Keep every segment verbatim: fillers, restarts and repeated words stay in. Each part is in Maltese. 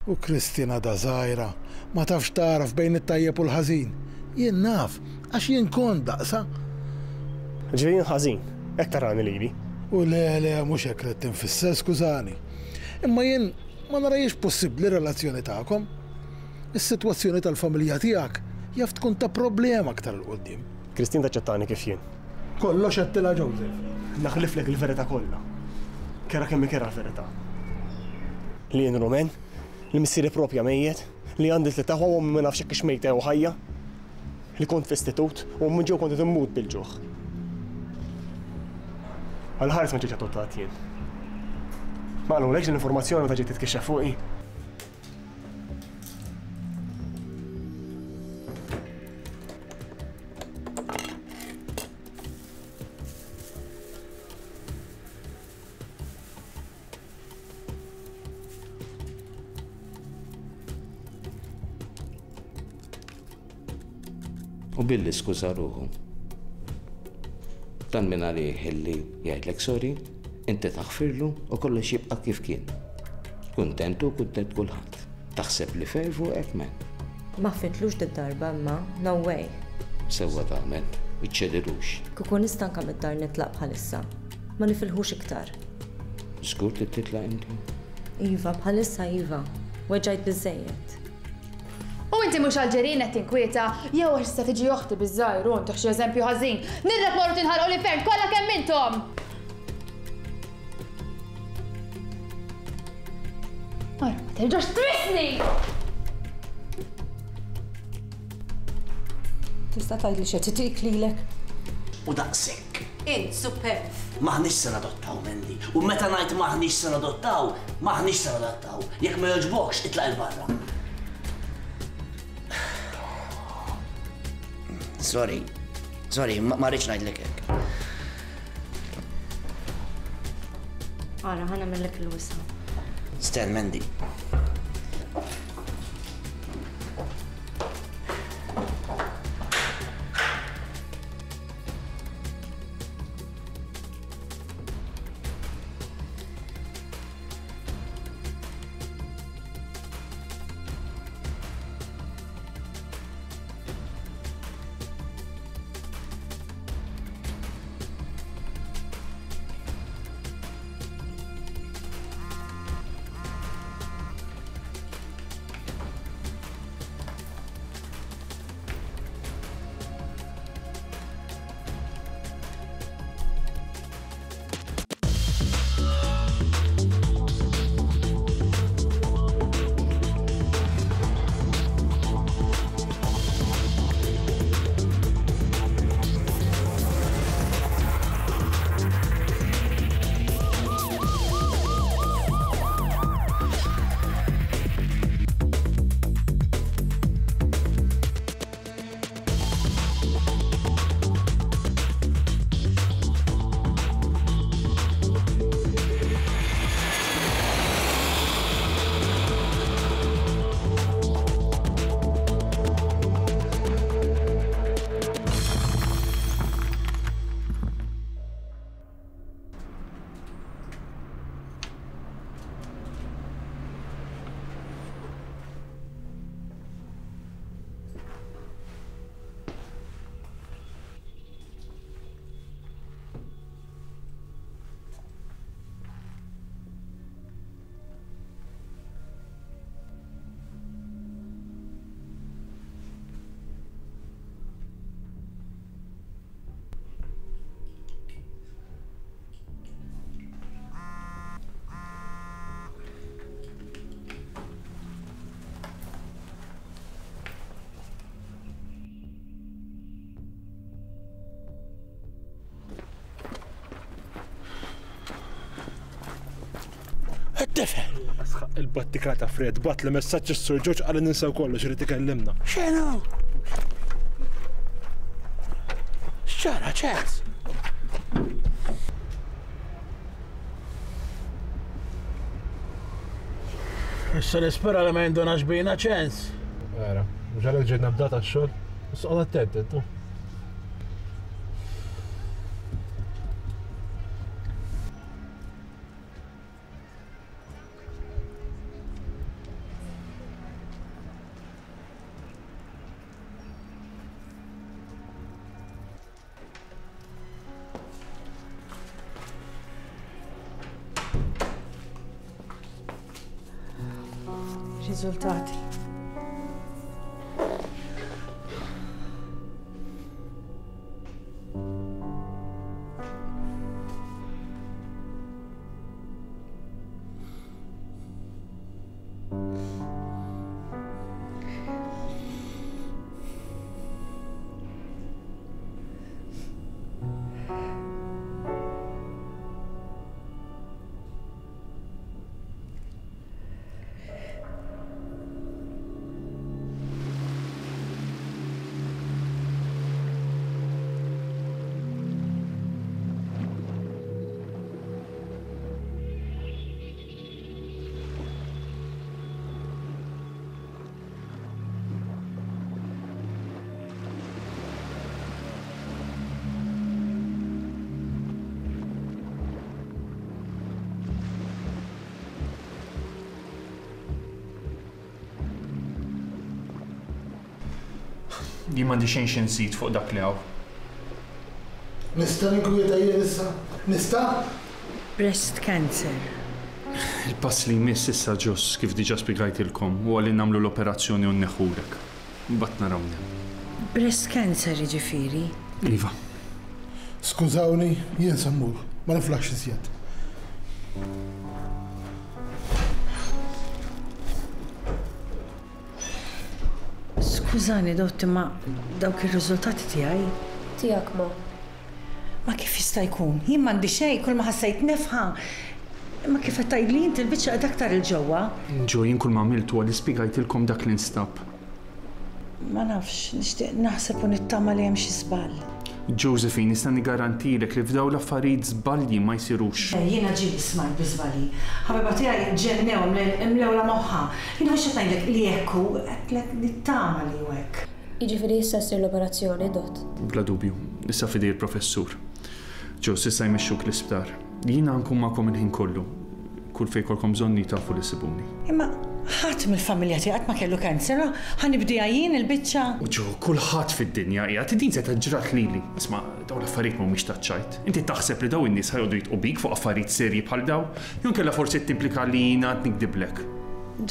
U Kristina da żgħira, ma tafx tagħraf bejn it-tajjeb u l-ħażin. Jien naf, għax jien kont daqsa. Ġifieri jien ħażin, hekk tarani lili. U le, le, mhux hekk ridt infisser, skużani. Imma jien ma narajiex possibbli relazzjoni tagħkom. Is-sitwazzjoni tal-familja tiegħek jaf tkun ta' problema aktar 'il quddiem. Kristin taċċettani kif jien. Kollox għedtilha Joseph. Naħliflek il-verità kollha. Kerha kemm hi kerha l-verità. Li jien Rumen, li missieri propja mejjet, li għandi tliet aħwa u ommi ma nafx hekk hix mejta jew ħajja, li kont f'istitut u minn ġew kont qed immut bil-ġuħ. Għal ħares ma ġejtx adottat jien. Ma qalulekx din l-informazzjoni meta ġiet titkixxef fuqi? U billi skuża ruħu. Dan minn għalih illi jgħidlek sorry, inti taħfirlu u kollox jibqa' kif kien. Kuntent u kuntent kulħadd. Taħseb li fair fuqek men. Ma ħfitlux did-darba imma, no way. Sewwa tagħmel, iċċedilux. Kieku nista' anke mid-dar nitlaq bħalissa. Ma nifilħux iktar. Żgur li titlaq inti? Iva, bħalissa iva. Weġġajt biżżejjed. U inti mhux għall-ġirien qed tinkwieta, jew għax issa tiġi oħti biż-żgħir u ntih xi eżempju ħażin. Nirrek morru tinħarqu l-infern kollha kemm intom! Ara, ma terġax tmissni! Tista' tgħidli x'qed itik lilek? U daqshekk. Int superb. Maħniex se nadottaw, Mandy. U meta ngħid maħniex se nadottaw, maħniex se nadottaw. Jekk ma jogħġbokx, itlaq 'il barra. Sorry, sorry, ma rridx ngħidlek hekk. Ara, ħa nagħmellek il-wisa. Sten, Mandy. Tifel. Asħaq il-battika ta' Fred, bat li messaġġ is-Sur Ġorġ qal ninsew kollox irid ikellimna. X'inhu? X'ġara ċens? Issa nispera li ma jindunax bina ċens. Vera, mhux għalhekk ġejna bdata x-xogħol. Issa qgħod attent intu. Riżultati. Jien m'għandi xejn xi nżid fuq dak li hawn. Nista' ninkwieta jien issa? Nista'? Breast cancer. Il-pass li jmiss issa Ġos, kif diġà spjegajtilkom, huwa li nagħmlu l-operazzjoni u nneħħulek. Imbagħad naraw hemm. Breast cancer jiġifieri? Iva. Skużawni, jien se mmur, ma niflaħx iżjed. Skużani, dott, imma dawk ir-riżultati tiegħi? Tiegħek ma. Ma kif jista' jkun? Jien m'għandi xejn, kull ma ħassejt nefħa. Imma kif qed tgħidli inti l-biċċa qed aktar il-ġewwa. Ġo, jien kull ma għamilt huwa li spjegajtilkom dak li nstab. Ma nafx, nixtieq naħseb u nittama li hemm xi żball. Josephine, nista' nigarantilek li f'dawn l-affarijiet żbalji ma jsirux. Jiena ġieli smajt bi żbalji. Ħabiba tiegħi ġennew imlewla moħħha. Jien mhux qed ngħidlek li hekk hu, qedlek nittama li hu hekk. Jiġifieri issa ssir l-operazzjoni, dott. Bla dubju, issa f'idej il-professur. Ġo, issa jmexxuk l-isptar. Jiena nkun magħkom il-ħin kollu. Kull fejn jkollkom bżonni tafu li ssibuni. Imma ħadd mill-familja tiegħi qatt ma kellu kanser, ħa nibdiha jien il-biċċa. U ġo, kulħadd fid-dinja qiegħed din se ġrat lili. Isma' dawn l-affarijiet mhumiex taċ-ċajt. Inti taħseb li dawn in-nies ħajqogħdu jitqu bik fuq affarijiet serji bħal daw? Jew inkella forsi timplika li jiena qed nikdiblek.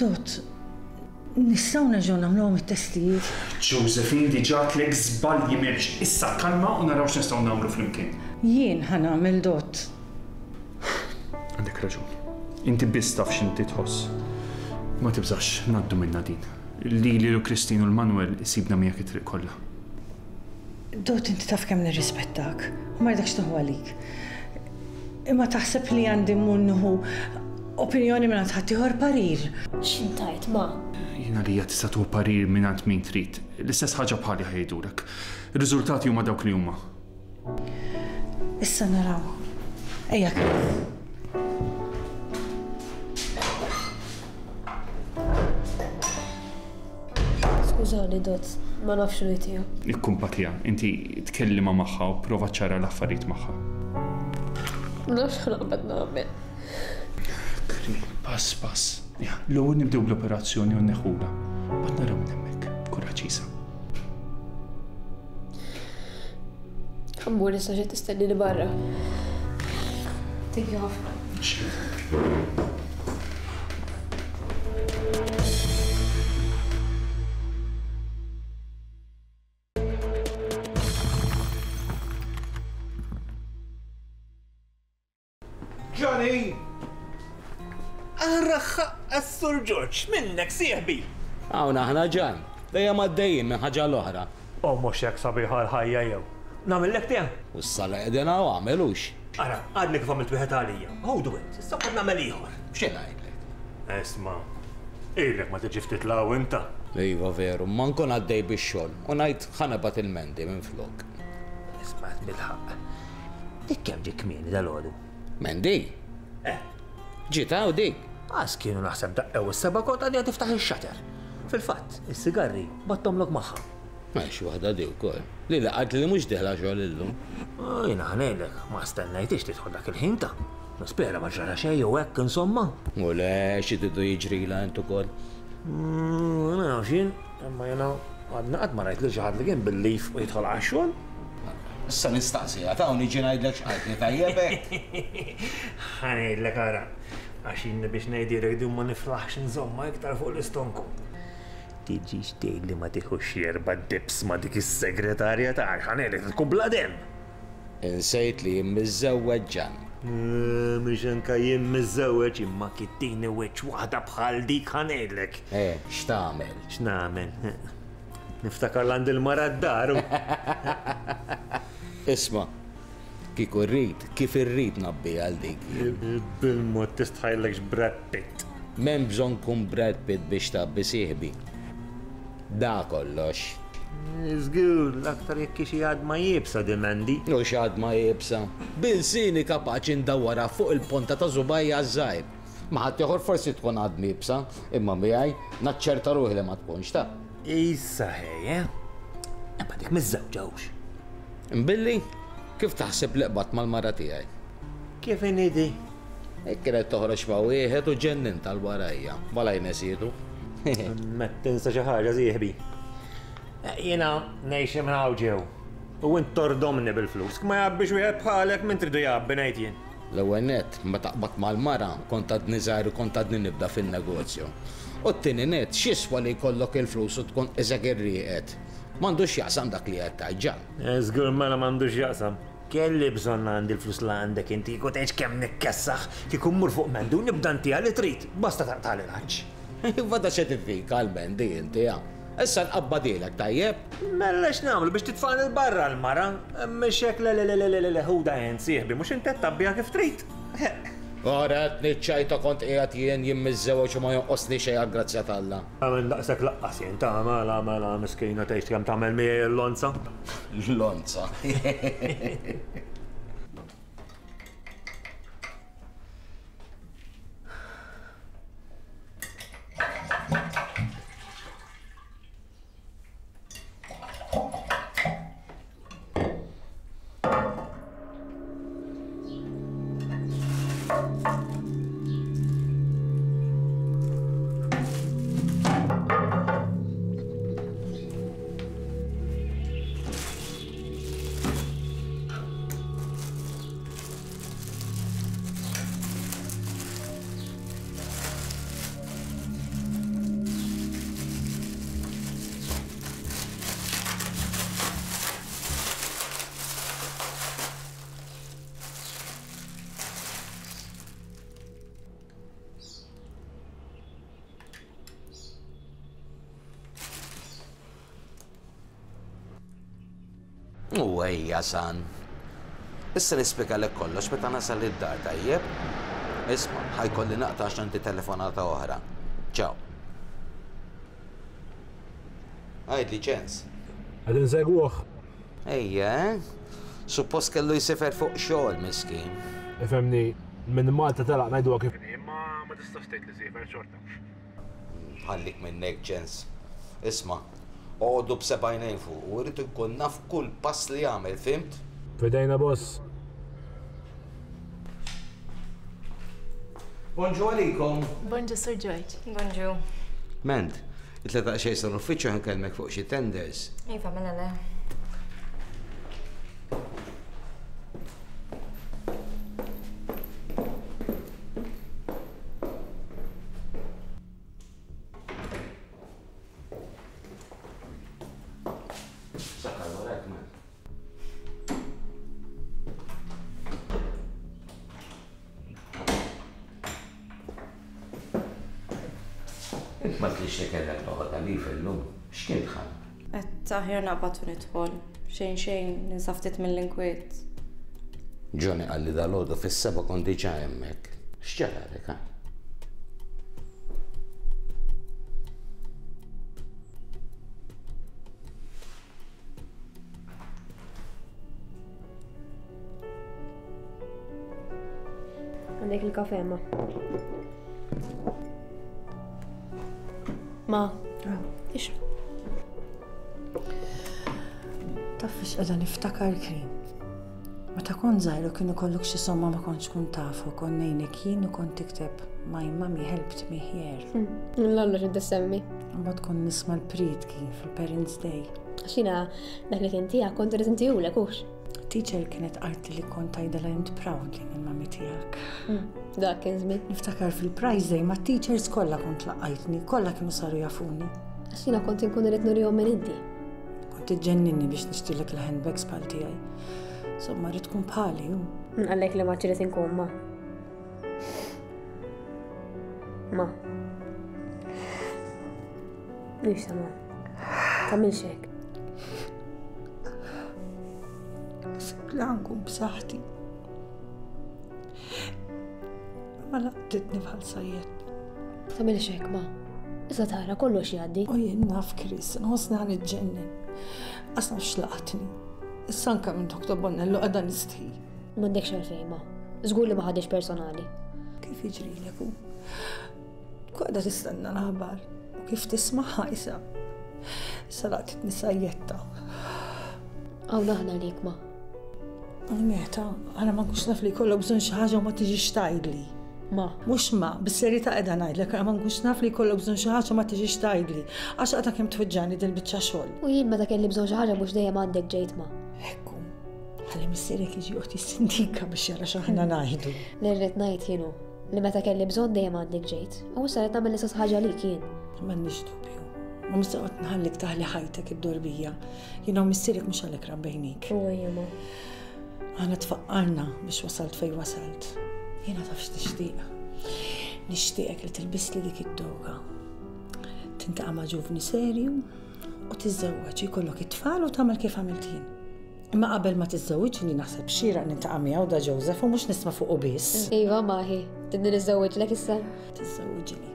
Dott, nistgħu nerġgħu nagħmluhom it-testijiet. Josephine, diġà għedtlek żbalji m'hemmx. Issa kalma u naraw x'nistgħu nagħmlu flimkien. Jien ħa nagħmel, dott. Għandek raġun. Inti biss taf x'inti tħoss. Ma tibżax, ngħaddu minna din. Lili u Christine u l-Manuel isibna miegħek it-triq kollha. Dott, inti taf kemm nirrispettak u ma rridekx tieħu għalik. Imma taħseb li għandi mmur nieħu opinjoni mingħand ħaddieħor parir. X'intajt ma? Jiena lija tista' tieħu parir mingħand min trid. L-istess ħaġa bħali ħajdulek. Ir-riżultati huma dawk li huma. Issa naraw. Ejja kemm. Skużani, dott, ma nafx li tiegħu. Ikkumpatija, inti tkellima magħha u prova ċara l-affarijiet magħha. Nafx x'naqbad nagħmel. Kri, pass pass. Ja, l-ewwel nibdew bl-operazzjoni u nneħħulha. Bad naraw minn hemmhekk. Kuraġġ isa. Ħammur issa xi tistennini barra. Thank you ħafna. Johnny! Arraħħa Sur George, minnek sieħbi! Hawn aħna ġan, dejjem għaddejjin minn ħaġa l-oħra. O mhux hekk sabiħa l-ħajja jew. Nagħmellek tiegħek? U s-sala qegħdin hawn għamilux. Ara, għadni kif għamilt wieħed għalija. Ħudu int, issa qed nagħmel ieħor. X'in ngħidlek? Isma', ilek ma tiġi ftit law inta. Iva veru, ma nkun għaddej bix-xogħol u ngħid ħanebat il-mendi minn flok. Isma' bil-ħaqq. Dik kemm ġie kmieni dal-għodu? Mendi? Eh. Ġiet hawn dik? Għas kienu naħseb daqqew is-seba' kont għadni tiftaħ ix-xater. Fil-fatt, is-sigarri battomlok magħha. M'hemmx waħda di wkoll. Li laqgħet li mhux dieħla xogħol illum. Jiena ħanejlek, ma stennajtix tidħol dak il-ħin ta'. Nispera ma ġara xejn jew hekk insomma. U le, xi tridu jiġrila int ukoll. Ma nafx jien, imma jiena għadna qatt ma rajt lil xi ħadd li kien bil-lif u jidħol għax-xogħol. Issa nistaqsiha ta' u niġi ngħidlek x'qaltni tajjeb hekk. Ħa ngħidlek ara. Għax jien biex ngħidilek din ma niflaħx nżomma iktar fuq l-istonku. Tiġix tgħid li ma tieħux erba' dips ma' dik is-segretarja tagħek, ħa ngħidlek tkun bla demm. Insejt li jien miżżewweġ Ġan. Mhux anke jien miżżewweġ imma kittini wiċċ waħda bħal dik ħa ngħidlek. Eh, x'tagħmel? X'nagħmel? Niftakar l-għand il-mara d-dar. Isma', kieku rrid, kif irrid nabbi għal dik. Bil-mod tistħajlekx Brad Pitt. M'hemm bżonn kun Brad Pitt biex tgħabbi sieħbi. Da kollox. Żgur, l-aktar jekk xi għadma iebsa dimendi. U xi għadma iebsa. Bilsini kapaċi ndawwarha fuq il-ponta ta' żubajja ż-żgħir. Ma ħadd ieħor forsi tkun għadma iebsa, imma miegħi naċċerta ruħi li ma tkunx ta'. Issa ħej, eh? Imma dik miż-żewġa hux. Imbilli, kif taħseb li qbadt mal-mara tiegħi? Kif inhi? Hekk kienet toħroġ ma' wieħed u ġennin tal-warajja, malaj nesietu. Ma tinsa xi ħaġa sieħbi. Jiena ngħix minn hawn ġew. U int tordomni bil-flus. Ma jgħabbix wieħed bħalek min tridu jgħabbi ngħid jien. L-ewwel nett, meta qbadt mal-mara, kont għadni żgħir u kont għadni nibda fin-negozju. U t-tieni nett, x'jiswa li jkollok il-flus u tkun qisek irrieqed. M'għandux x'jaqsam dak li qed tgħid Ġan. Żgur mela m'għandux x'jaqsam. Kelli bżonn għandi l-flus li għandek inti, kieku tgħidx kemm nikkessaħ, kieku mmur fuq Mendu nibda ntiha li trid, basta taqtagħli l-għaġġ. Iva da x'qed tifik għal Mendy inti, ha? Issa nqabbadilek tajjeb? Mela x'nagħmlu biex titfagħni l-barra l-mara? Mhux hekk le le le le le le ħuda int sieħbi, mhux inti qed tgħabbiha kif trid. Ora qed niċċajta kont qiegħed jien jien miżżewweġ u ma jonqosni xejn għall-grazzja t'Alla. Għamel daqshekk laqqas jien ta' mela mela miskina tgħix kemm tagħmel miegħi l-lonza. L-lonza. U ejja san. Issa nispjegalek kollox meta nasal id-dar tajjeb. Isma', ħajkolli naqta' għax għandi telefonata oħra. Ciao. Għidli ċens. Qed insegwuh. Ejja, eh? Suppost kellu jsifer fuq xogħol miskin. Ifhemni, minn Malta telaq ngħiduha kif inhi, imma ma tistax tgħid li siefer xorta. Ħallik minnek ċens. Isma', oqogħdu b'seba' għajnejn fuq u rrid inkun naf kull pass li jagħmel, fimt? Fidejna boss. Bonġu għalikom. Bonġu Sir George. Bonġu. Ment, it-tlieta xejn sa l-uffiċċju ħankellmek fuq xi tenders. Iva, mela le. Sakkar warajk, man. Int ma tlix li kellek toħodha lif illum, x'kien tħall? Qed aħjar naqbad u nidħol. Xejn xejn ninsa ftit mill-inkwiet. Johnny qalli dalgħodu fis-seba' kont diġà hemmhekk. X'ġaralek, ha? Għandek il-kafe, ma. Ma, ixrob. Taf fiex qiegħda niftakar Krin. Meta kont żgħir u kien ikollok xi somma ma kontx tkun tafu, kont ngħinek jien u kont tikteb My mommy helped me here. L-għallu x'inti semmi. Mbagħad kont nisma' l-prietki fil-Parents' Day. Għax jiena dak li kien tiegħek kont irrid intihulek hux. Teacher kienet qaltli li kont tgħidilha int proud li il-mami tiegħek. Dak kien żmien. Niftakar fil-prize day ma' teachers kollha kont laqajtni, kollha kienu saru jafuni. Għax jiena kont inkun irid nurihom minn inti. Kont iġġenninni biex nixtrilek il-handbags bħal tiegħi. Insomma, rrid tkun bħali u. Min qallek li ma ġrid inkun ma. Ma. Mhix ta' ma. Tagħmilx hekk. Li għankun b'saħħti. Ma laqtitni bħal sajjet. Tagħmilx hekk ma. Issa tara kollox jgħaddi. U jien naf Chris, nħossni ħa niġġennen. Qas naf x'laqatni. Issa anke minn Doktor Bonello qiegħda nistħi. M'għandekx għalfejn ma. Żgur li ma ħadix personali. Kif jiġrilek hu? Tkun qiegħda tistenna l-aħbar u kif tismagħha issa. Issa laqtitni sajjetta. Hawn aħna għalik ma. Meta, għara ma nkunx naf li jkollok bżonn xi ħaġa u ma tiġix tgħidli. Ma. Mhux ma, bis-serjetà qiegħda ngħidlek, għara ma nkunx naf li jkollok bżonn xi ħaġa u ma tiġix tgħidli. Għax għadha kemm tweġġani din biċċa xogħol. U jien meta kelli bżonn xi ħaġa mhux dejjem għandek ġejt ma. Ekku, ħalli missierek jiġi joqgħod jissindika biex jara x'aħna ngħidu. Li rrid ngħid jien hu li meta kelli bżonn dejjem għandek ġejt. U issa qed nagħmel l-istess ħaġa lik jien. M'għandix dubju. Ma mhux se noqgħod nħallik taħli ħajtek id-dorbija. Jiena u missierek mhux għalhekk rabbejnik. U ejja ma. Aħna tfaqqarna biex wasalt fej wasalt. Jiena taf x'tixtieq. Nixtieqek li tilbisli dik id-doga. Tintaqa' ma' ġuvni serju u tiżżewweġ, jkollok it-tfal u tagħmel kif għamilt jien. Imma qabel ma tiżżewwiġni naħseb xieraq nintaqa' miegħu da Joseph u mhux nisma' fuqu biss. Iva maħi, tidni niżżewwiġlek issa? Tiżżewwiġli.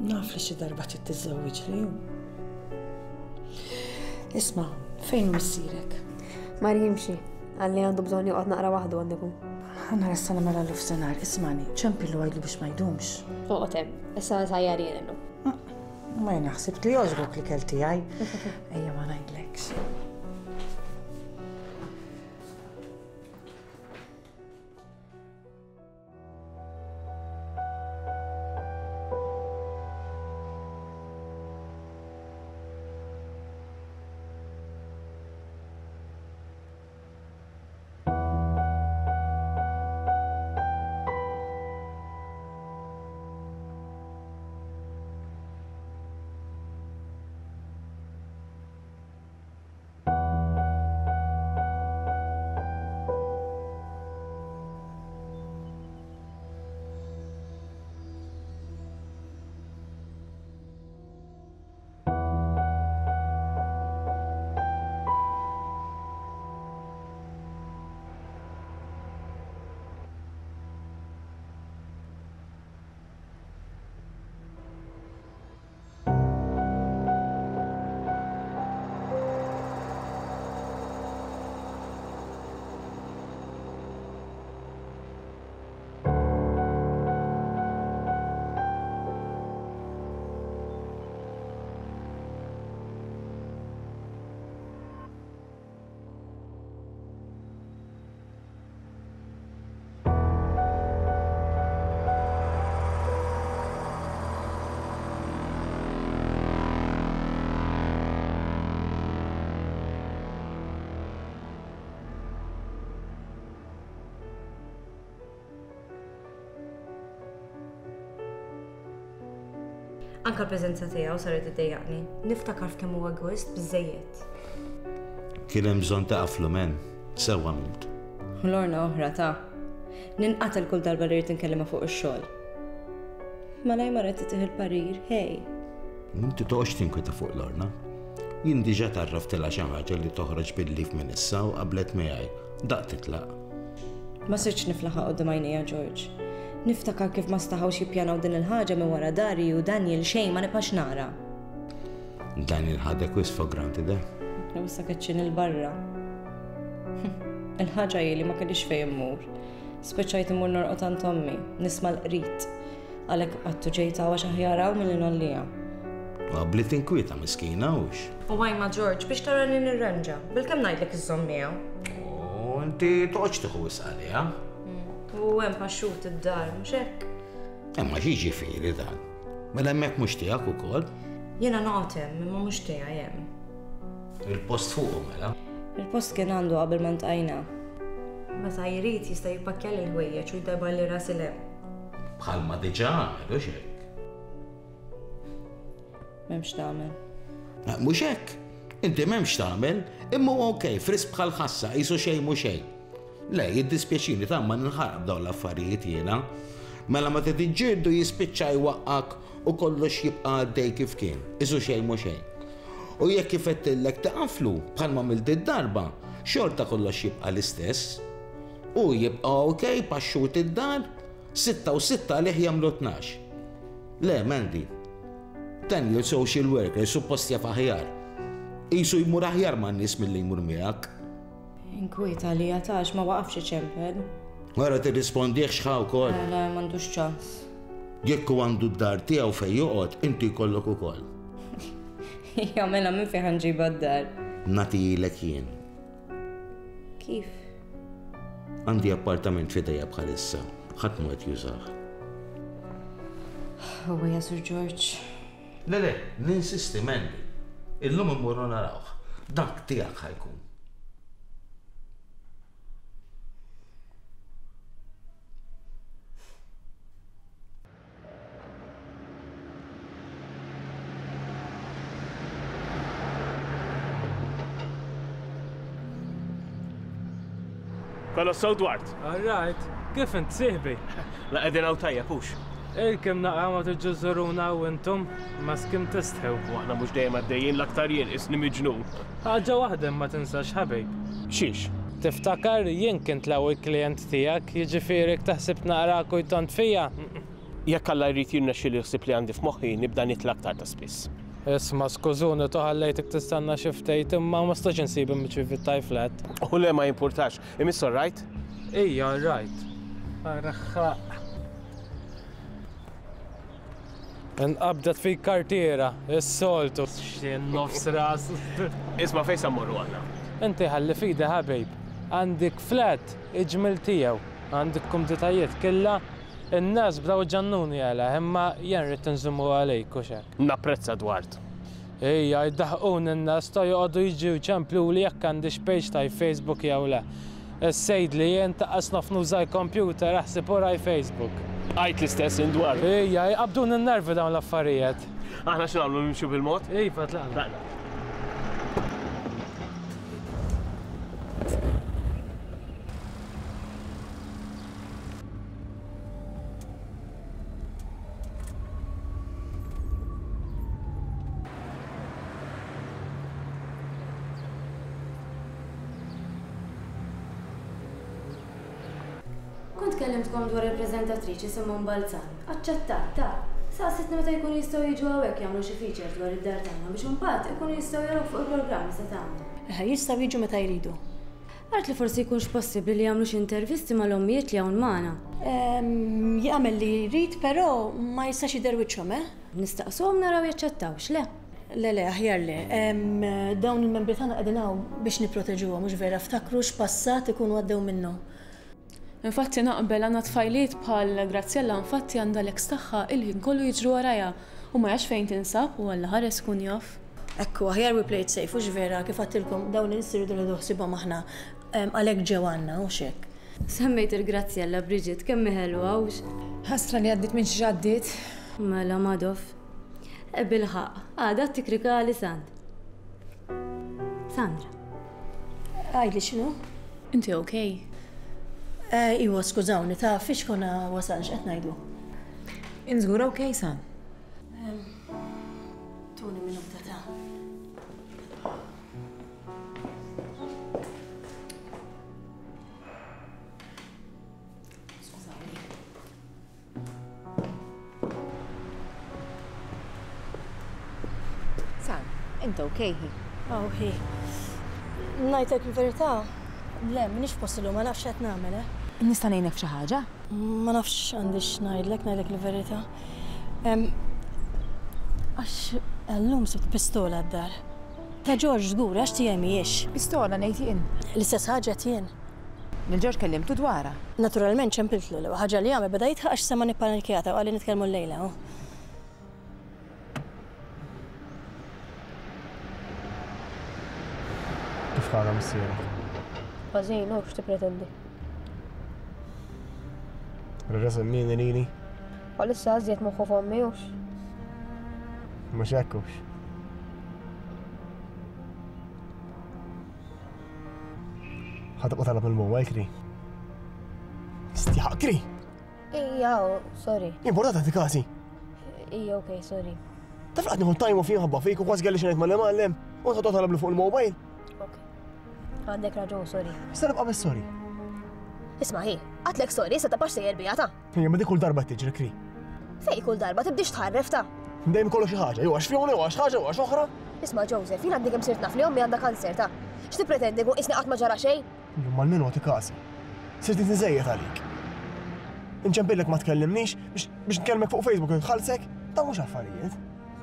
Naf li xi darba trid tiżżewwiġli. Isma', fejn hu missierek? Mar jimxi. Għalli għandu bżonn joqgħod naqra waħdu għandikum. Ħa nara issa nagħmel għall-nofsinhar, ismani, ċempillu għidlu biex ma jdumx. Oqgħod hemm, issa nsajjar jien illum. Ma jien ħsibt li jogħġbok l-ikel tiegħi. Ejja ma ngħidlekx. Anka l-preżenza tiegħu saret iddejjaqni. Niftakar f'kemm huwa egoist biżejjed. Kien hemm bżonn taqaflu men, sewwa għamilt. Lorna oħra ta' ninqatel kull darba li rrid inkellimha fuq ix-xogħol. Malaj marret titih il-parir, hej. Inti toqgħodx tinkweta fuq Lorna. Jien diġà tarraftilha xi ħaġa li toħroġ bil-lif minn issa u qablet miegħi. Daq titlaq. Ma sirtx niflaħa quddiem għajnejja George. Niftakar kif ma staħawx jippjanaw din il-ħaġa minn wara dari u Daniel xejn ma nibqax nara. Daniel ħadek wisq for granted, eh? U issa keċċin il-barra. Il-ħaġa hi li ma kellix fejn immur. Spiċċajt immur norqod għand ommi, nisma' l-qrit. Għalhekk qattu ġejta għax aħjar hawn milli nollija. Qabli tinkwieta miskina hux. U għajma George biex tara li nirranġa, bilkemm ngħidlek iżżomm miegħu. U inti toqgħodx tieħu wisq għaliha. U hemm paxxut id-dar, mhux hekk? Imma xi ġifieri dan? Mela hemmhekk mhux tiegħek ukoll? Jiena noqgħod hemm, imma mhux tiegħi hemm. Il-post fuqu mela? Il-post kien għandu qabel ma ntqajna. Meta jrid jista' jippakkja l-ħwejjeġ u jdabbar li rasi 'l hemm. Bħalma diġà għamel, hux hekk? M'hemmx tagħmel. Mhux hekk. Inti m'hemmx tagħmel, imma huwa okej, frisk bħal ħassa, qisu xejn mhu xejn. Le, jiddispjaċini ta' ma ninħaraq b'dawn l-affarijiet jiena. Mela ma tiġġieldu jispiċċa jwaqqak u kollox jibqa' għaddej kif kien, qisu xejn mhu xejn. U jekk ifettillek taqaflu bħalma għamilt id-darba, xorta kollox jibqa' l-istess. U jibqa' okej paxxut id-dar, sitta u sitta għalih jagħmlu tnax. Le, Mandy, Daniel social worker suppost jaf aħjar. Qisu jmur aħjar man-nies milli jmur miegħek. Inkwieta li għatax ma waqafx iċempel. Wara tirrispondih x'ħa wkoll. Le, le, m'għandux ċans. Jekk hu għandu d-dar tiegħu fejn joqgħod, inti jkollok ukoll. Ija, mela minn fejn ħanġibha d-dar? Nagħtihilek jien. Kif? Għandi appartament f'idejja bħalissa, ħadd mhu qed jużah. Huwa ja Sur George. Le, le, ninsisti Mandy. Illum immorru narawh. Dak tiegħek ħajkun. Kollox sew Dwart. All right, kif int sieħbi? La qegħdin hawn tajjeb hux. Ilkem naqa' ma tiġu żuruna u intom ma skim tistħew. U aħna mhux dejjem għaddejjin l-aktar jien isni miġnun. Ħaġa waħda ma tinsax ħabib. Xiex? Tiftakar jien kint l-ewwel klient tiegħek, jiġifieri taħseb naqra kujtant fija. Jekk Alla jrid jirnexxi li ħsieb li għandi f'moħħi nibda nitla' aktar ta' spiss. Isma' skużuni toħallejtek tistanna xi ftit imma ma stax insib imċi fit-tajflet. U le ma jimpurtax, imiss all right? Ija, all right. Araħħaq. Inqabdet fik kartiera, is-soltu. X'in nofs ras. Isma' fejn sa mmorru aħna? Inti ħalli fidi ħabib. Għandek flat iġmil tiegħu, għandek kumditajiet killa. In-nies bdew ġannuni għala, imma jien rrid inżommu għalejk u xek. Napprezza Dwart. Ejja, jdaħqun in-nies ta' joqogħdu jiġu jċempluli jekk għandix page ta' Facebook jew le. Is-sejd li jien taqqas naf nuża l-computer aħseb uraj Facebook. Għajt l-istess indwar. Ejja, jqabdun in-nervi dawn l-affarijiet. Aħna x'nagħmlu nimxu bil-mod? Iva, tlaqna. Tlaqna. Kont kellimtkom dwar il-preżentatriċi Simon Balzan. Aċċettat, ta' saqsitni meta jkunu jistgħu jiġu hawnhekk jagħmlu xi feature dwar id-dar tagħna biex imbagħad ikunu jistgħu jaraw fuq il-programm se tagħmel. Eħe, jistgħu jiġu meta jridu. Għart li forsi jkunx possibbli li jagħmlu xi intervisti mal-ommijiet li hawn magħna. Jagħmel li jrid, però ma jistax jidher wiċċhom, eh? Nistaqsuhom naraw jaċċettawx, le? Le, le, aħjar le. Dawn il-membri tagħna qegħdin hawn biex nipproteġuhom, mhux vera, ftakru x'passat ikunu għaddew minnu. Infatti naqbel għandna tfajliet bħal Graziella infatti għandha l-ex tagħha il-ħin kollu jiġru warajha u ma jafx fejn tinsab u Alla ħares kun jaf. Ekku, aħjar we play it safe, hux vera, kif għattilkom dawn in-nies iridu nieħdu ħsiebhom aħna għalhekk ġew għandna u x'hekk. Semmejt il-Graziella Bridget kemm hi ħelwa hux. Ħasra li għaddiet minn xi għaddiet. Mela Madoff. Bilħaq, għadha tikrika għali Sand. Sandra. Għajli x'inhu? Inti okej? Iwa, skużawni, ta' fiex konna wasalx qed ngħidu. Inżgur okej, San? Tuni minuta ta'. Skużawni. San, int okej hi? Oh, hi. Ngħidlek il-verità? Le, m'iniex possilu, ma nafx qed nagħmel, eh? Nista' ngħinek f'xi ħaġa? Ma nafx għandix ngħidlek, ngħidlek il-verità. Għax llum sibt pistola d-dar. Ta' George żgur, għax tiegħi mhijiex. Pistola ngħid jien. L-istess ħaġa qed jien. Lil George kellimtu dwarha. Naturalment ċempiltlu l ħaġa li għamel beda jitħaq għax sema nippanikjata u qalli nitkellmu llejla. Kif ħadha missierek? Ħażin, u x'tippretendi? Reġa' semmini lili. Bħalissa għażiet moħħu f'ommi hux. Mhux hekk hux. Ħa tibqa' talab il-mobile, Kri. Stjaħ, Kri! Ija, sorry. Importanti għati kasi. Ija, ok, sorry. Taf qed nieħu time off ħabba fik u kważi kelli xi ngħid mal-imgħallem u tħodd talab fuq il-mobile. Ok. Għandek raġun, sorry. Issa nibqa' biss sorry. Isma' hi, għatlek sorry, issa tibqax sejjer bija ta'. Ejja, ma dik kull darba tiġri, Kri. Fej kull darba tibdix tħarref ta'. Dejjem kollu xi ħaġa, jew għax fjoni, jew għax ħaġa, jew għax oħra. Isma' Joseph, jien għandi kemm sirt naf li ommi għandha kanser ta'. X'tippretendi kun isni qatt ma ġara xejn? Illum almenu għati kasi. Sirt inżejjed għalik. Inċempillek ma tkellimnix biex nkellmek fuq Facebook nħallsek, ta' mhux affarijiet.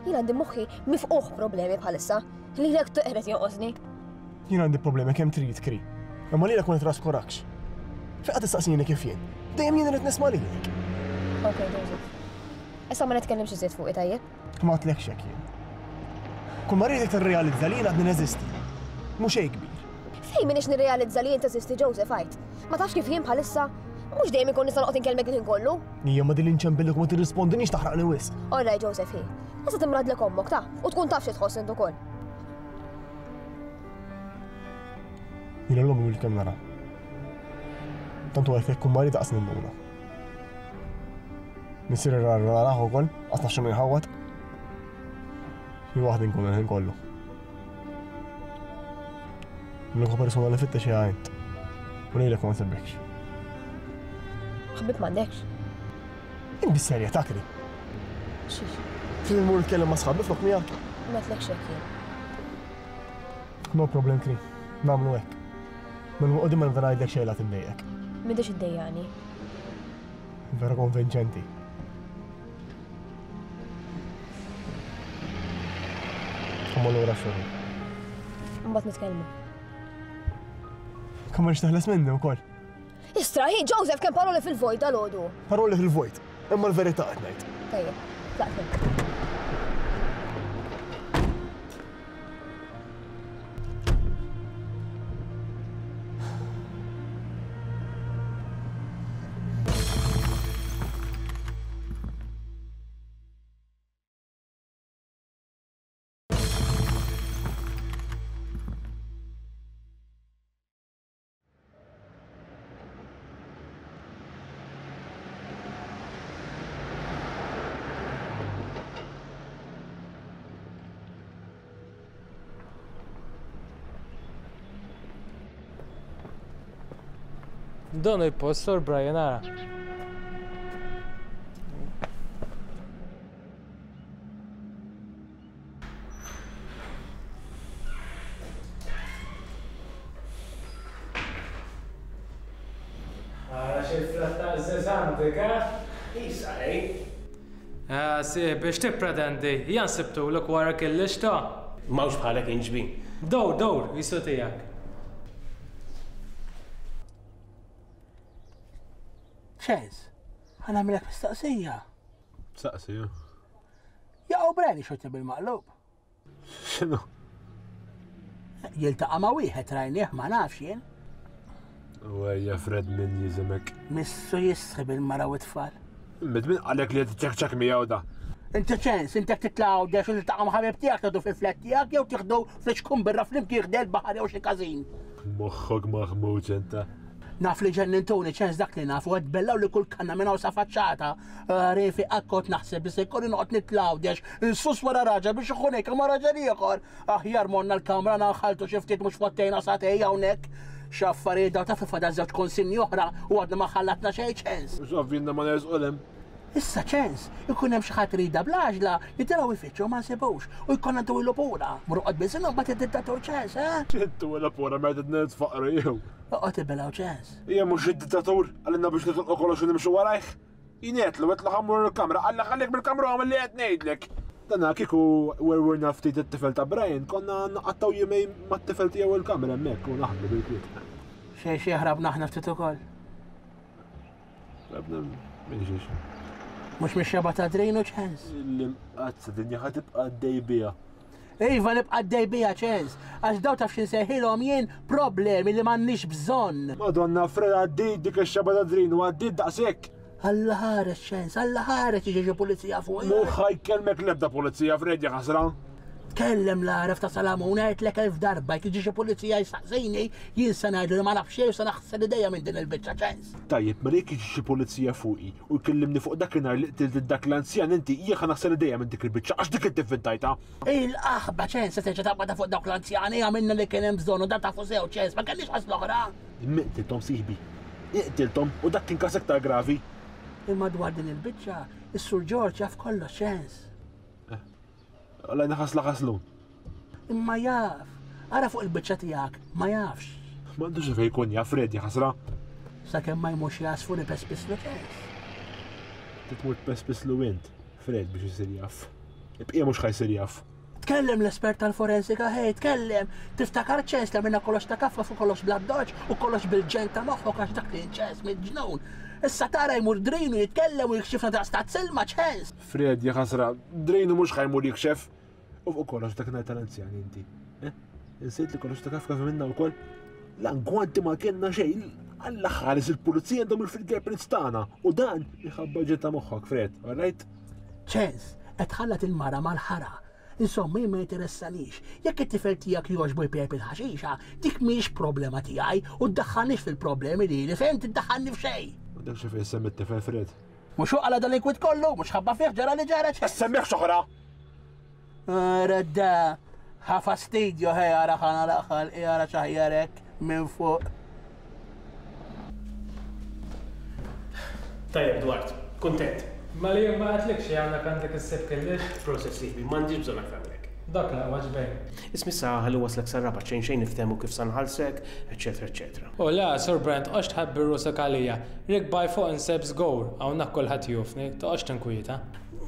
Jien għandi moħħi mifquħ problemi bħalissa. Lilek toqret jonqosni. Jien għandi problemi kemm trid, Kri. Imma lilek ma nitraskurakx. Fejn qed tistaqsini kif jien? Dejjem jien irid nisma' lilek. Ok, Joseph. Issa ma nitkellimx iżjed fuqi tajjeb. Ma għadtlekx hekk jien. Kull ma rridek tirrealizza li jien għadni neżisti. Mhux xejn kbir. Fejn m'iniex nirrealizza li jien teżisti, Joseph, għid. Ma tafx kif jien bħalissa? Mhux dejjem ikun nista' noqgħod inkellmek il-ħin kollu. Hija ma din li nċempillek u ma tirrispondinix taħraqni wisq. All right, Joseph, hi. Issa timradlek ommok ta' u tkun taf xi tħoss int ukoll. Jiena l-ommi mil kemm nara. Tant huwa jekk kun marid daqs ninduna. Missieri rar narah ukoll, qatt naf x'inhu jħawwad. Jien waħdi nkun il-ħin kollu. L-unika persuna li fittex hija int. U lilek ma nsebbekx. Ħabib m'għandekx. Int bis-serjetà, Kri. Xiex? Trid immur nitkellem ma' sħabi flok miegħek? Ma tlekx hekk jien. No problem, Kri. Nagħmlu hekk. Minn qudiem ma nibda ngħidlek xejn la tindejqek. M'intix iddejjaqni. Vera konvinċenti. Ħammur lura x-xogħol. Mbagħad nitkellmu. Kemm ma teħles minni wkoll. Istra, hi, Joseph, kemm paroli fil-vojt dal-għodu. Paroli fil-vojt, imma l-verità qed ngħid. Tajjeb, tlaqt. Dan il-post, Sor Brian, ara. Ara xi flatta għażiż għandek, eh? Isa, ej. Ah, si, biex tippretendi, jan sibtulek wara kellix ta'. Mawx bħalek inġbin. Dawr, dawr, jisu tiegħek. ċens, ħa nagħmilek mistaqsija. Saqsi, ju. Jaqgħu Brian xorti bil-maqlub. X'inhu? Jiltaqa' ma' wieħed rajnieh ma nafx jien. U ejja Fred min jiżimek. Missu jisħi bil-mara u t-tfal. Mid min qalek li qed tiċċekċek miegħu da. Inti ċens, inti jekk titla' Għawdex u tiltaqa' ma' ħabib tiegħek tgħidu fil-flat tiegħek jew tieħdu fliċkun birra flimkien ħdejn il-baħar jew xi każin. Moħħok maħmuġ inta. Naf li ġennintuni ċens dak li naf u qed bellaw li kull kanna minn hawn sa faċċata. Refi akkot naħseb li se jkolli noqgħod nitla' Għawdex insus wara raġel biex ikun hekk ma' raġel ieħor. Aħjar morna l-kamra naħaltu xi ftit mhux fottejna sagħtejn hawnhekk. X'affarijiet daw taf fadal żewġ konsinni oħra u għadna ma ħallatna xejn ċens. Mhux ovvjinna ma nersqu l-hemm. Issa ċens, ikun hemm xi ħadd rida bl-għaġla nitilgħu jfittxu ma nsibux u jkollna ntuwilu pura. Mur oqgħod biżinhom mbagħad id-dittatur ċens, eh? Intuwilu pura meta nitfaqru jew. Oqgħod ibilgħu ċens. Hija mhux id-dittatur għalina biex nitlqu kollox u nimxu warajh. Jien qedlu qed ħammur il-kamra, qalla ħallik bil-kamra għamel li qed ngħidlek. Dana kieku werwirna ftit it-tifel ta' Brian, konna naqattaw jumejn mat-tifel tiegħu il-kamra hemmhekk u naħdmu bil-kwiet. Xejn xi ħrabna aħna ftit ukoll. Ħrabna minn xiex. Mhux mix-xeba ta' Drinu ċens. L-imqazza dinja ħa tibqa' għaddej biha. Iva nibqa' għaddej biha ċens, għax daw taf x'insejħilhom jien problemi li m'għandniex bżonn. Madonna Fred għaddit dik ix-xeba ta' Drinu għaddit daqshekk. Alla ħares ċens, alla ħares jiġi xi pulizija fuq. Mhu ħa jkellmek l-ebda pulizija, Fred, ja ħasra. Tkellem l-għaref ta' Salamun għedtlek elf darba jekk jiġi xi pulizija jsaqsini, jien se ngħidlu li ma naf xejn u se naħsel idejja minn din il-biċċa ċens. Tajjeb, mela jekk jiġi xi pulizija fuqi u jkellimni fuq dakinhar li qtilt lil dak l-anzjan inti, jien ħa naħsel idejja minn dik il-biċċa għax dik inti vvintajtha. Il-qaħba ċens se terġa' taqbadha fuq dawk l-anzjani għamilna li kien hemm bżonn u dan tafu sew ċens, ma kellniex ħasla oħra. Imma qtilthom sieħbi. Iqtilthom u dak kien każ iktar gravi. Imma dwar din il-biċċa, is-Sur George jaf kollox ċens. Alla jnaħasla ħaslu. Imma jaf. Ara fuq il-biċċa tiegħek, ma jafx. M'għandux fejn jkun jaf Fred, ħasra. Sakemm ma jmurx jasfu li pespislu ċens. Titmur pespislu int, Fred, biex isir jaf. Ibqija mhux ħa jsir jaf. Tkellem l-espert tal-forensika, hej, tkellem. Tiftakar ċens li għamilna kollox ta' kafka fuq kollox bl-addoċ u kollox bil-ġen ta' moħħok għax dak li ċens mill-ġnun. Issa tara jmur Drinu jitkellem u jikxifna daqs ta' silma ċens. Fred, ja ħasra, Drinu mhux ħa jmur jikxef. U fuq kollox dak nhar tal-anzjani inti. Eh? Insejt li kollox ta' kafka minna wkoll. L-angwanti ma kellna xejn. Alla ħares il-pulizija għandhom il-fingerprints tagħna u dan minħabba ġen ta' moħħok, Fred, all right? Ċens, qed tħallat il-mara mal-ħara. Insomma, jien ma jinteressanix. Jekk it-tifel tiegħek jogħġbu jpejjep il-ħaxixa, dik mhix problema tiegħi u ddaħħalnix fil-problemi lili, fejn tiddaħħalni f'xejn. M'għandekx xi fejn semmi t-tifel, Fred. Mhux hu qala dan l-inkwit kollu, mhux ħabba fih ġara li ġara ċens. Semmieħ x'oħra! Redda, ħa fastidju ħej ara ħana l-aħħal, ara xaħjarek minn fuq. Tajjeb, Dwart, kuntent. Ma li ma għatlikx li għandek għandek issib kellix? Proset sieħbi, m'għandix bżonn aktar minn hekk. Dak l-aqwa ġbejn. Isma' issa ħalli waslek sar-Rabat xejn xejn niftehmu kif sa nħallsek, eċċetera, eċċetera. U la, Sur Brent, toqgħodx tħabbi rusek għalija. Rikbaj fuq inseb żgur, hawnhekk kulħadd jufni, toqgħodx tinkwieta.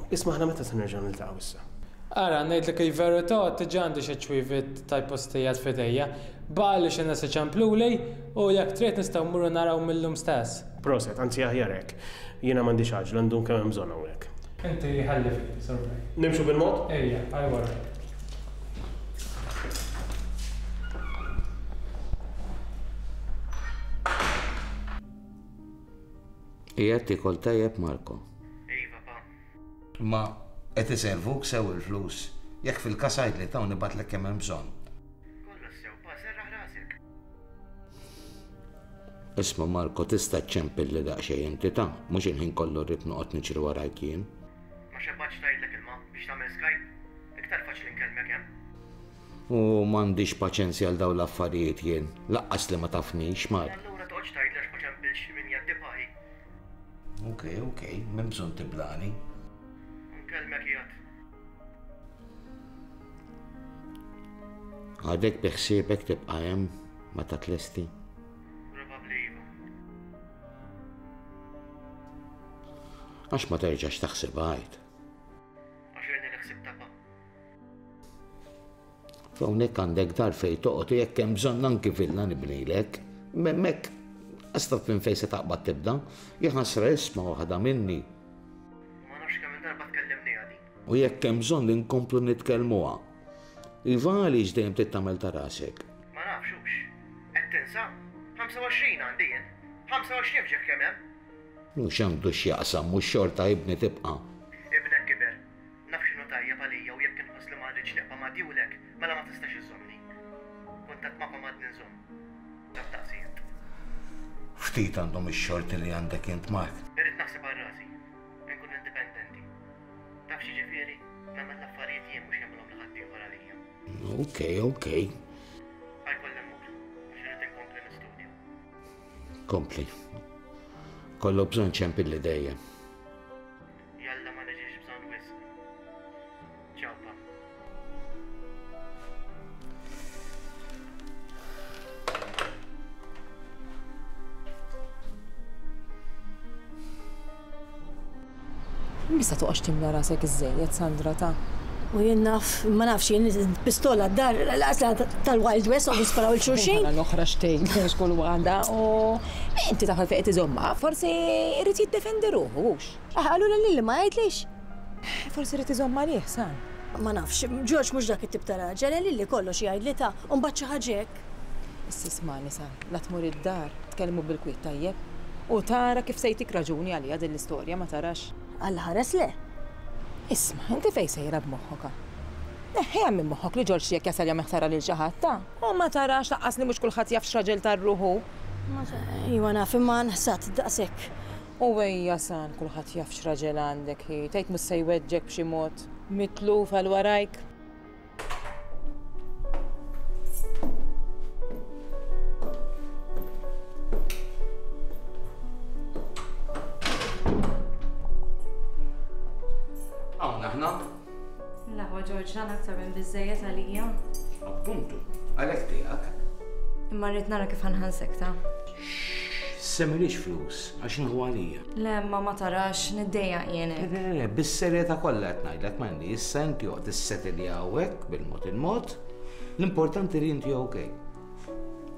Isma' aħna meta se nerġgħu niltaqgħu issa? Ara, ngħidlek il-verità, diġà għandi xi ċwieviet tal-postijiet f'idejja. Baqali xi nies iċempluli u jekk trid nistgħu mmorru naraw mil-lum stess. Proset, anzi aħjar hekk. Jiena m'għandix għaġla ndum kemm hemm bżonn hawnhekk. Inti ħalli fidi, Sur Brent. Nimxu bil-mod? Ejja, għal wara. Qiegħed tiekol tajjeb, Marco? Iva, pa. Ma qed iservuk sew il-flus. Jekk fil-każ għidli ta' nibatlek kemm hemm bżonn. Kollox sew, pa, serraħ rasek. Isma' Marco, tista' ċċempilli daqsxejn inti ta' mhux il-ħin kollu rrid noqgħod niġri warajk jien. Ma xebgħatx tgħidlek ilma biex tagħmel Skype. Iktar faċli nkellmek hemm. U m'għandix paċenzja għal dawn l-affarijiet jien, laqqas li ma tafnix, Mark. Allura toqgħodx tgħidli għax ma ċempilx minn jeddi paħi. Ok, ok, m'hemm bżonn tiblani. Nkellmek qiegħed. Għadek bi ħsiebek tibqa' hemm meta tlesti? Probabbli iva. Għax ma terġax taħsibha għid. Għax irni li ħsibtha pa. F'hawnhekk għandek dar fejn toqgħod u jekk hemm bżonn anki villa nibnilek. M'hemmhekk għastaf minn fejn se taqbad tibda, jaħasra isma' waħda minni. Ma nafx kemm il-darba tkellimniha din. U jekk hemm bżonn inkomplu nitkellmuha. Iva għaliex dejjem trid tagħmel ta' rasek? Ma nafx hux. Qed tinsa? ħamsa u għoxrin għandi jien. ħamsa u għoxrin f'ġieħ kemm hemm. Mhux għandu x'jaqsam, mhux xorta ibni tibqa'. Ibnek kiber. Naf x'inhu tajjeb għalija u jekk inħoss li ma rridx nibqa' ma' djulek, mela ma tistax iżżommni. Kuntatt magħkom għadni nżomm. Taf daqsi int. Ftit għandhom ix-xorti li għandek int, Mark. Irrid naħseb għal rasi. Inkun indipendenti. Taf x'jiġifieri? Nagħmel l-affarijiet jien mhux jagħmilhom li ħaddieħor għalija. Ok, ok. Ħajkolli mmur, għax irrid inkompli nistudja. Kompli. Kollu bżonn ċempilli dejjem. Jalla ma niġix bżonn wisq. Ciao, pa. Mista toqgħodx timla rasek iżżejjed, Sandra, ta' U jien naf, ma nafx, jien pistola d-dar, l-qasla tal-Wild West, u nisparaw il-xulxin. Mela l-oħra xtejn, xkull waħda, u inti taħal fejn qed iżomma, forsi irid jiddefendi ruħu, hux. Ah, allura lili ma jgħidlix. Forsi irid iżomma għalih, San. Ma nafx, George mhux dak it-tip ta' raġel, lili kollox jgħidli ta' u mbagħad xi ħaġa hekk. Issa ismagħni, San, la tmur id-dar, tkellmu bil-kwiet tajjeb. U tara kif se jtik raġuni għalija din l-istorja, ma tarax. Alla ħares le. Isma', inti fejn sejra b'moħħok? Neħħiha minn moħħok li Ġorġ jekk jasal jagħmel ħsara lil xi ħadd ta'. U ma tarax laqqas li mhux kulħadd jaf x'raġel tar-ruħu. Iwa naf imma nħsat daqshekk. U ejja san kulħadd jaf x'raġel għandek hi, tgħid mhux se jweġġek b'xi mod mitluf għal warajk. Hawn aħna? L-aħwa Ġorġ, dan aktar minn biżżejjed għalija. Appuntu, għalhekk tiegħek. Imma rrid nara kif ħanħansek ta'. Semmilix flus, għax inħu għalija. Le, ma ma tarax, niddejjaq jien. Le, le, bis-serjetà kollha qed ngħidlek Mandy, issa inti oqgħod issetili hawnhekk bil-mod il-mod. L-importanti li inti okej.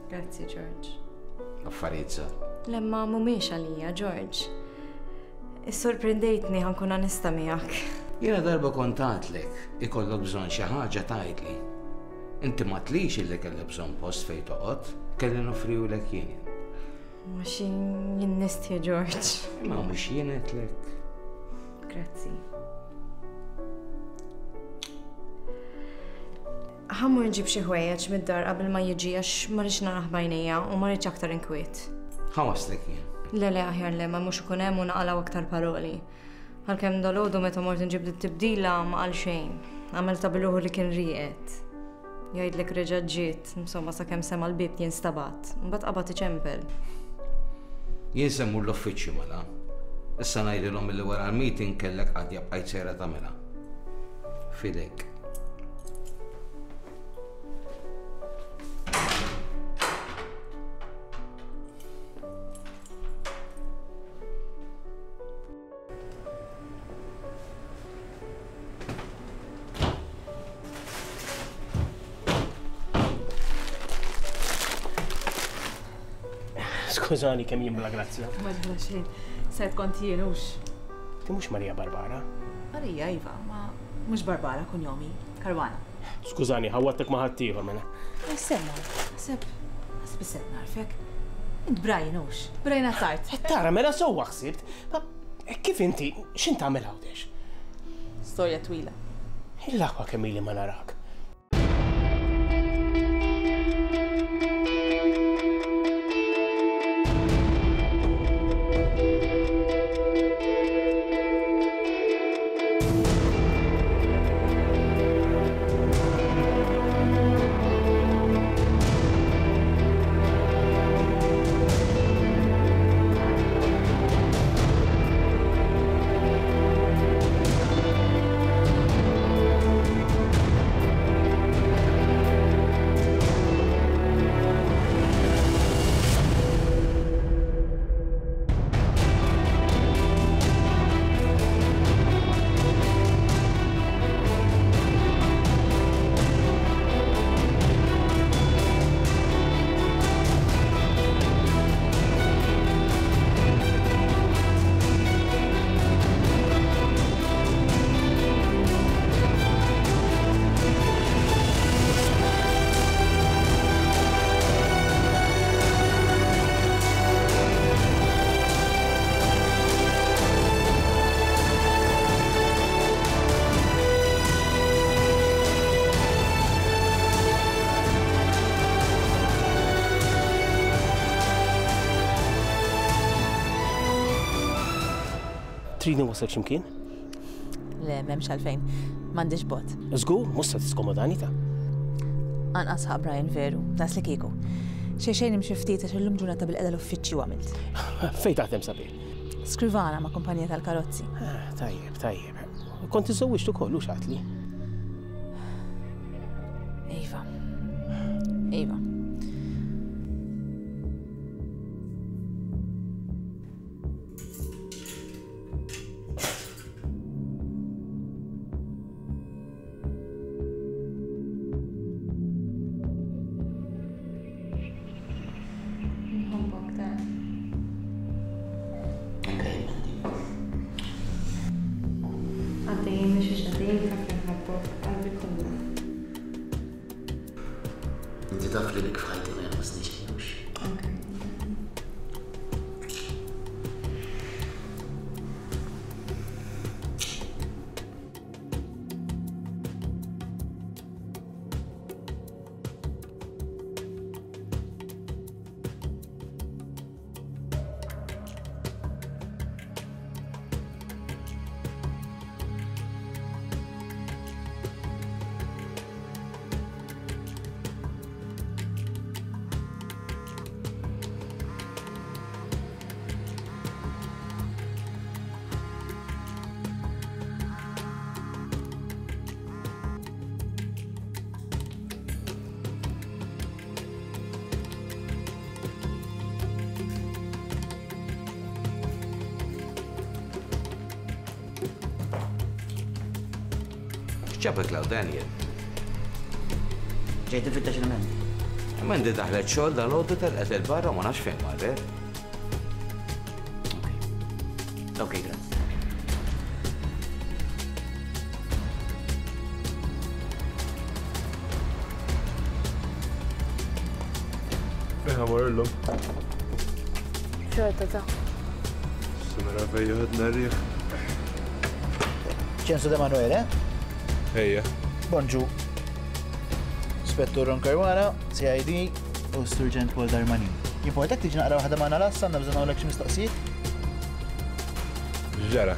Grazzi, Ġorġ. Affarijiet żgħar. Le, ma mhumiex għalija, Ġorġ. Issorprendejtni ħa nkun onesta miegħek. Jiena darba kont għadlek ikollok bżonn xi ħaġa tgħidli. Inti ma tlix illi kellek bżonn post fejn toqgħod, kelli noffriwlek jien. Mhux jien nistħi, Ġorġ. Imma mhux jien għedtlek. Grazzi. Ħa mmur nġib xi ħwejjeġ mid-dar qabel ma jiġi għax ma rridx narah b'għajnejja u ma rridx aktar inkwiet. Ħa waslek jien. Le le aħjar le ma mhux ikun hemm u naqalgħu aktar paroli. Għalkemm dalgħodu meta mort nġib dit-tibdila ma qal xejn. Għamel ta' biluħu li kien rieqed. Jgħidlek reġa' ġiet, insomma sakemm sema' l-bieb jinstabat. Mbagħad qabad iċempel. Jien se mmur l-uffiċċju mela. Issa ngħidilhom illi wara l-meeting kellek qadja bqajt sejra tagħmilha. Fidejk. Skużani kemm jien bla grazzja. Ma ġra xejn. Sed kont jien hux. Ti mhux Maria Barbara? Marija iva, ma mhux Barbara kunjomi, Karwana. Skużani, ħawwadtek ma' ħaddieħor mela. Semma, naħseb naħseb isset narfek. Int Brian hux. Brian Attard. Tara mela sewwa ħsibt. Ma kif inti x'int tagħmel hawnhekk? Storja twila. Il-aħwa kemm ili ma narak. Tridni wasal x'imkien? Le, m'hemmx għalfejn. M'għandix bot. Żgur, mhux se tiskomodani ta'. Anqas ħa Brian veru, nas li kieku. Xejn xejn imxi ftit għax illum ġurnata bil-qeda l-uffiċċju għamilt. Fejn taħdem sabiħ? Skrivana ma' kumpanija tal-karozzi. Tajjeb, tajjeb. Kont iżżewwiġt ukoll u x'għatli. Iva. Iva. Nħobbok ta. Għaddejjin mhux xiex għaddejjin taf li nħobbok qalbi kollha. Inti taf li bik f'ħajti ma jonqosni xejn hux. X'ġabek 'l hawn, Daniel? Ġejt infittex il-Mandy. Mandy daħlet xogħol dalgħodu telqet 'il barra ma nafx fejn marret. Ok, grazzi. Fejn ħa mmur illum? Xorta ta' Sinara fejn joħodna r-riħ. Ċensu De Manuele? Ejja. Bonġu. Spettur Ron Caruana, C I D u Surġent Paul Darmanin. Jimportak tiġi naqra waħda magħna l-għassa, għandna bżonn nagħmlek xi mistoqsijiet? Ġara.